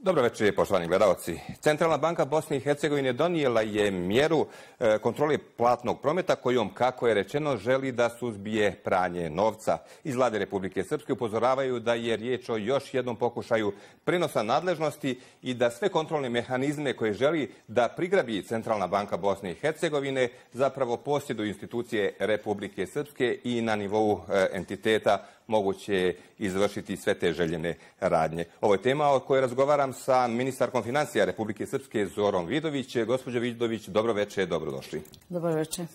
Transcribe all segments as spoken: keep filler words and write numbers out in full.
Dobro večer, poštovani gledalci. Centralna banka Bosne i Hercegovine donijela je mjeru e, kontrole platnog prometa kojom, kako je rečeno, želi da suzbije pranje novca. Iz Vlade Republike Srpske upozoravaju da je riječ o još jednom pokušaju prenosa nadležnosti i da sve kontrolne mehanizme koje želi da prigrabi Centralna banka Bosne i Hercegovine zapravo posjeduju institucije Republike Srpske i na nivou e, entiteta moguće izvršiti sve te željene radnje. Ovo je tema o kojoj razgovaram sa ministarkom financija Republike Srpske Zorom Vidović. Gospođo Vidović, dobro večer, dobrodošli. Dobro večer.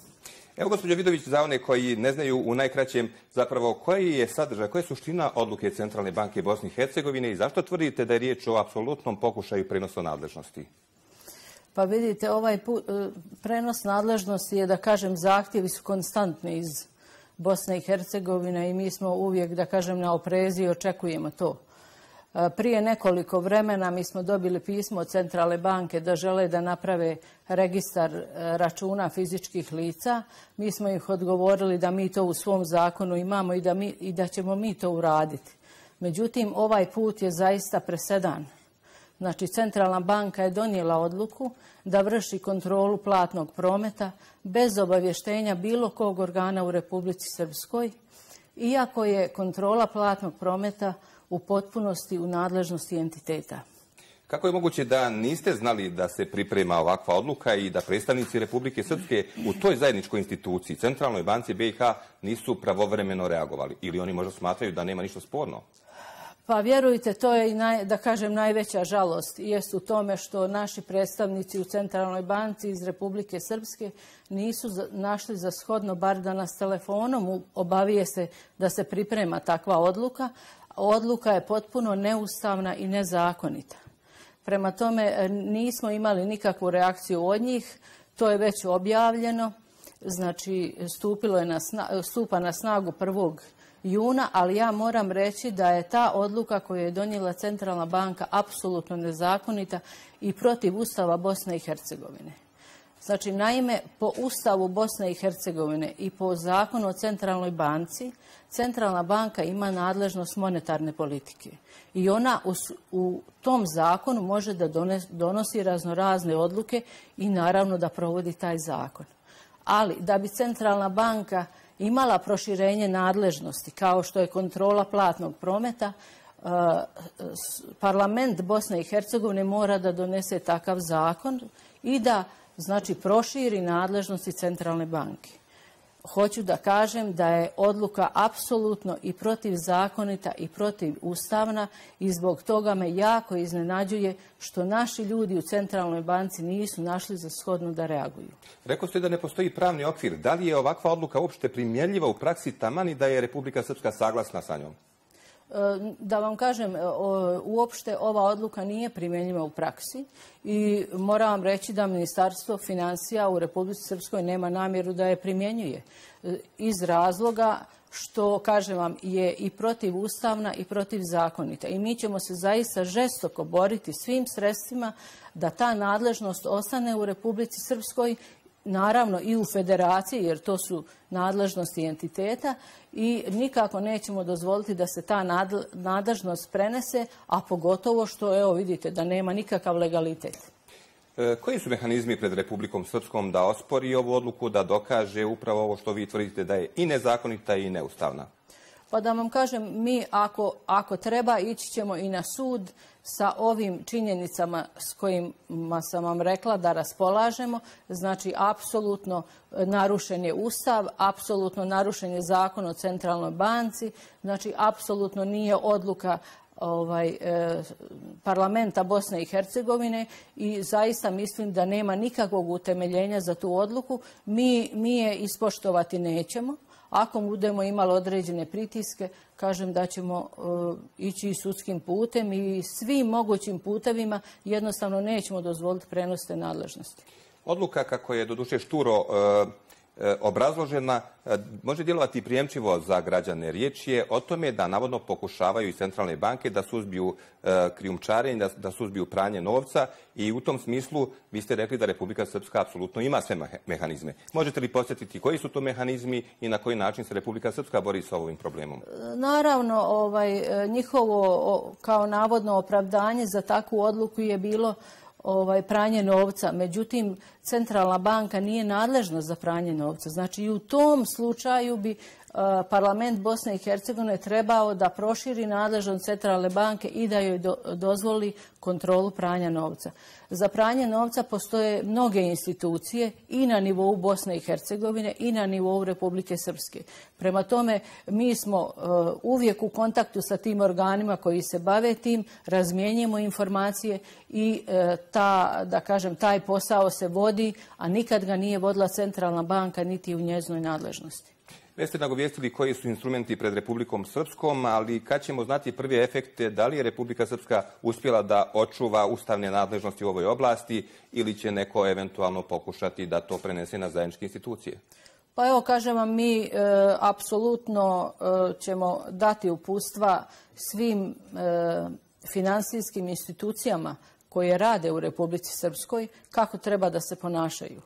Evo, gospođo Vidović, za one koji ne znaju u najkraćem zapravo koji je sadržaj, koja je suština odluke Centralne banke Bosne i Hercegovine i zašto tvrdite da je riječ o apsolutnom pokušaju prenosa nadležnosti? Pa vidite, ovaj put, prenos nadležnosti je, da kažem, zahtjevi su konstantni iz Bosne i Hercegovine i mi smo uvijek, da kažem, na oprezi i očekujemo to. Prije nekoliko vremena mi smo dobili pismo od Centralne banke da žele da naprave registar računa fizičkih lica. Mi smo ih odgovorili da mi to u svom zakonu imamo i da, mi, i da ćemo mi to uraditi. Međutim, ovaj put je zaista presedan. Znači, Centralna banka je donijela odluku da vrši kontrolu platnog prometa bez obavještenja bilo kog organa u Republici Srpskoj, iako je kontrola platnog prometa u potpunosti u nadležnosti entiteta. Kako je moguće da niste znali da se priprema ovakva odluka i da predstavnici Republike Srpske u toj zajedničkoj instituciji, Centralnoj banci B i H, nisu pravovremeno reagovali? Ili oni možda smatraju da nema ništa sporno? Pa vjerujte, to je, naj, da kažem, najveća žalost. Jest u tome što naši predstavnici u Centralnoj banci iz Republike Srpske nisu našli za shodno bar da nas telefonom obavijeste da se priprema takva odluka. Odluka je potpuno neustavna i nezakonita. Prema tome nismo imali nikakvu reakciju od njih. To je već objavljeno. Znači, stupilo je na sna, stupa na snagu prvog juna, ali ja moram reći da je ta odluka koju je donijela Centralna banka apsolutno nezakonita i protiv Ustava Bosne i Hercegovine. Znači, naime, po Ustavu Bosne i Hercegovine i po zakonu o Centralnoj banci, Centralna banka ima nadležnost monetarne politike. I ona u, u tom zakonu može da dones, donosi raznorazne odluke i naravno da provodi taj zakon. Ali da bi Centralna banka imala proširenje nadležnosti, kao što je kontrola platnog prometa, parlament Bosne i Hercegovine mora da donese takav zakon i da, znači, proširi nadležnosti Centralne banke. Hoću da kažem da je odluka apsolutno i protivzakonita i protivustavna i zbog toga me jako iznenađuje što naši ljudi u Centralnoj banci nisu našli za shodno da reaguju. Rekao ste da ne postoji pravni okvir. Da li je ovakva odluka uopšte primjenjiva u praksi taman i da je Republika Srpska saglasna sa njom? Da vam kažem, uopšte ova odluka nije primjenjiva u praksi i moram vam reći da Ministarstvo financija u Republici Srpskoj nema namjeru da je primjenjuje. Iz razloga što, kažem vam, je i protivustavna i protivzakonita. I mi ćemo se zaista žestoko boriti svim sredstvima da ta nadležnost ostane u Republici Srpskoj, naravno i u federaciji, jer to su nadležnosti entiteta, i nikako nećemo dozvoliti da se ta nadležnost prenese, a pogotovo što, evo vidite, da nema nikakav legalitet. E, koji su mehanizmi pred Republikom Srpskom da ospori ovu odluku, da dokaže upravo ovo što vi tvrdite da je i nezakonita i neustavna? Pa da vam kažem, mi ako, ako treba ići ćemo i na sud sa ovim činjenicama s kojima sam vam rekla da raspolažemo. Znači, apsolutno narušen je Ustav, apsolutno narušen je zakon o Centralnoj banci, znači apsolutno nije odluka ovaj, eh, parlamenta Bosne i Hercegovine i zaista mislim da nema nikakvog utemeljenja za tu odluku. Mi, mi je ispoštovati nećemo. Ako budemo imali određene pritiske, kažem da ćemo uh, ići i sudskim putem i svim mogućim putevima, jednostavno nećemo dozvoliti prenos te nadležnosti. Odluka, kako je doduše šturo uh, obrazložena može djelovati prijemčivo za građane. Riječ je o tome da navodno pokušavaju iz centralne banke da suzbiju krijumčarenje, da, da suzbiju pranje novca i u tom smislu vi ste rekli da Republika Srpska apsolutno ima sve mehanizme. Možete li podsjetiti koji su to mehanizmi i na koji način se Republika Srpska bori sa ovim problemom? Naravno, ovaj, njihovo kao navodno opravdanje za takvu odluku je bilo ovaj, pranje novca. Međutim, centralna banka nije nadležna za pranje novca. Znači i u tom slučaju bi parlament Bosne i Hercegovine trebao da proširi nadležnost centralne banke i da joj do, dozvoli kontrolu pranja novca. Za pranje novca postoje mnoge institucije i na nivou Bosne i Hercegovine i na nivou Republike Srpske. Prema tome, mi smo uh, uvijek u kontaktu sa tim organima koji se bave tim, razmjenjujemo informacije i uh, ta, da kažem, taj posao se vodi, a nikad ga nije vodila centralna banka niti u njezinoj nadležnosti. Već ste nagovijestili koji su instrumenti pred Republikom Srpskom, ali kad ćemo znati prve efekte, da li je Republika Srpska uspjela da očuva ustavne nadležnosti u ovoj oblasti ili će neko eventualno pokušati da to prenese na zajedničke institucije? Pa evo, kažem vam, mi e, apsolutno e, ćemo dati uputstva svim e, finansijskim institucijama koje rade u Republici Srpskoj kako treba da se ponašaju.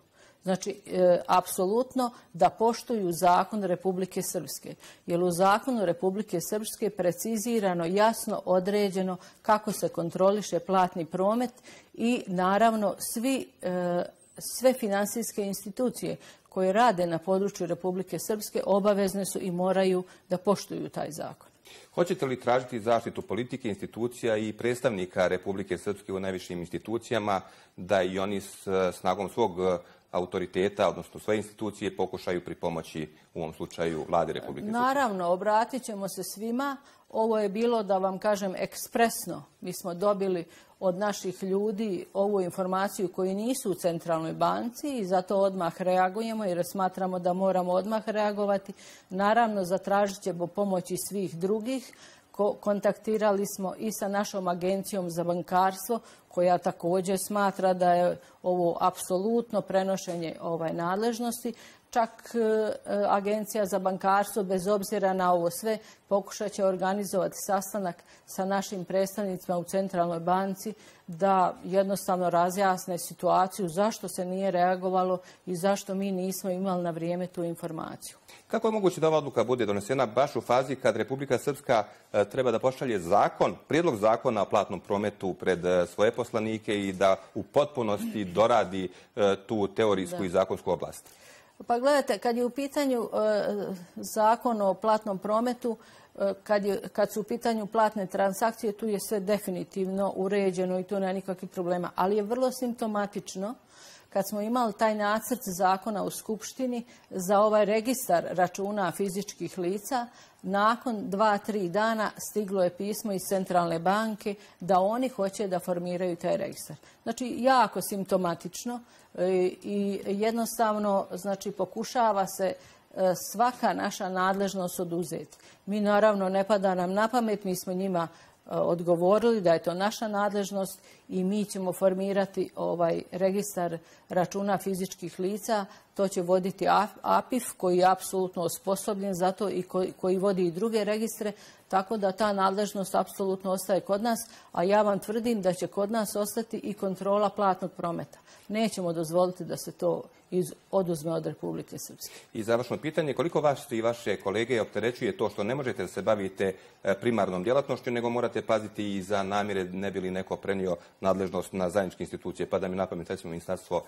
Znači, e, apsolutno da poštuju zakon Republike Srpske. Jer u zakonu Republike Srpske precizirano, jasno određeno kako se kontroliše platni promet i naravno svi, e, sve finansijske institucije koje rade na području Republike Srpske obavezne su i moraju da poštuju taj zakon. Hoćete li tražiti zaštitu politike, institucija i predstavnika Republike Srpske u najvišim institucijama da i oni s snagom svog autoriteta, odnosno svoje institucije, pokušaju pripomoći u ovom slučaju vlade Republike Srpske? Naravno, obratit ćemo se svima. Ovo je bilo, da vam kažem, ekspresno. Mi smo dobili od naših ljudi ovu informaciju koji nisu u centralnoj banci i zato odmah reagujemo jer smatramo da moramo odmah reagovati. Naravno, zatražit ćemo pomoći svih drugih. Kontaktirali smo i sa našom agencijom za bankarstvo koja također smatra da je ovo apsolutno prenošenje ovaj nadležnosti. Čak e, agencija za bankarstvo, bez obzira na ovo sve, pokušat će organizovati sastanak sa našim predstavnicima u centralnoj banci da jednostavno razjasne situaciju zašto se nije reagovalo i zašto mi nismo imali na vrijeme tu informaciju. Kako je moguće da ova odluka bude donesena baš u fazi kad Republika Srpska e, treba da pošalje zakon, prijedlog zakona o platnom prometu pred e, svoje poslanike i da u potpunosti doradi e, tu teorijsku da. i zakonsku oblast? Pa gledajte, kad je u pitanju e, zakon o platnom prometu, e, kad, je, kad su u pitanju platne transakcije, tu je sve definitivno uređeno i tu nema nikakvih problema. Ali je vrlo simptomatično kad smo imali taj nacrt zakona u Skupštini za ovaj registar računa fizičkih lica, nakon dva, tri dana stiglo je pismo iz centralne banke da oni hoće da formiraju taj registar. Znači, jako simptomatično i jednostavno, znači, pokušava se svaka naša nadležnost oduzeti. Mi naravno ne pada nam na pamet, mi smo njima odgovorili da je to naša nadležnost i mi ćemo formirati ovaj registar računa fizičkih lica. To će voditi A P I F koji je apsolutno osposobljen za to i koji, koji vodi i druge registre, tako da ta nadležnost apsolutno ostaje kod nas, a ja vam tvrdim da će kod nas ostati i kontrola platnog prometa. Nećemo dozvoliti da se to iz, oduzme od Republike Srpske. I završno pitanje, koliko vas i vaše kolege opterećuje to što ne možete da se bavite primarnom djelatnošću, nego morate paziti i za namjere ne bi li neko prenio nadležnost na zajedničke institucije, pa da mi napamet recimo Ministarstvo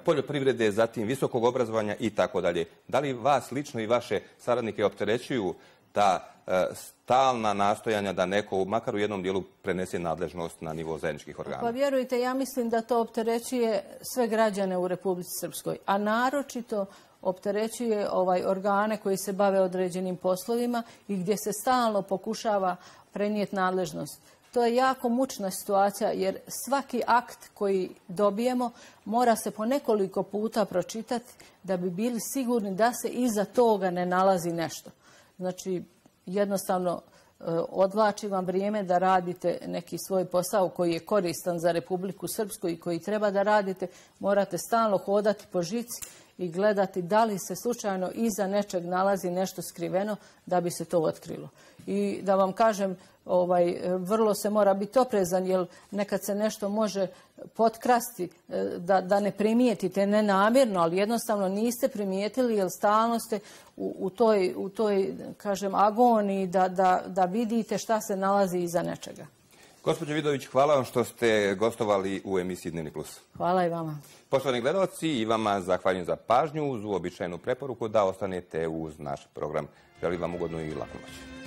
poljoprivrede, zatim visokog obrazovanja i tako dalje. Da li vas lično i vaše saradnike opterećuju ta stalna nastojanja da neko, makar u jednom dijelu, prenese nadležnost na nivo zajedničkih organa? Pa vjerujte, ja mislim da to opterećuje sve građane u Republici Srpskoj, a naročito opterećuje ovaj organe koji se bave određenim poslovima i gdje se stalno pokušava prenijeti nadležnost. To je jako mučna situacija jer svaki akt koji dobijemo mora se po nekoliko puta pročitati da bi bili sigurni da se iza toga ne nalazi nešto. Znači, jednostavno odvlači vam vrijeme da radite neki svoj posao koji je koristan za Republiku Srpsku i koji treba da radite. Morate stalno hodati po žici i gledati da li se slučajno iza nečeg nalazi nešto skriveno da bi se to otkrilo. I da vam kažem, ovaj, vrlo se mora biti oprezan, jer nekad se nešto može potkrasti, da, da ne primijetite, ne namjerno, ali jednostavno niste primijetili, jer stalno ste u, u toj, u toj, kažem, agoniji da, da, da vidite šta se nalazi iza nečega. Gospođo Vidović, hvala vam što ste gostovali u emisiji Dnevni plus. Hvala i vama. Poštovani gledalci, i vama zahvaljujem za pažnju uz uobičajenu preporuku da ostanete uz naš program. Želim vam ugodnu i laku noć.